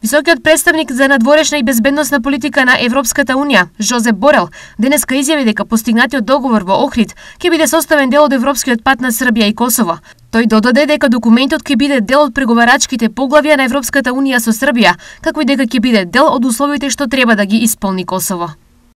Високиот представник за надворешна и безбедносна политика на Европската Унија, Жозеп Борел, денеска изјави дека постигнатиот договор во Охрид ќе биде составен дел од европскиот пат на Србија и Косово. Тој додаде дека документот ќе биде дел од преговарачките поглавја на Европската Унија со Србија, како и дека ќе биде дел од условите што треба да ги исполни Косово.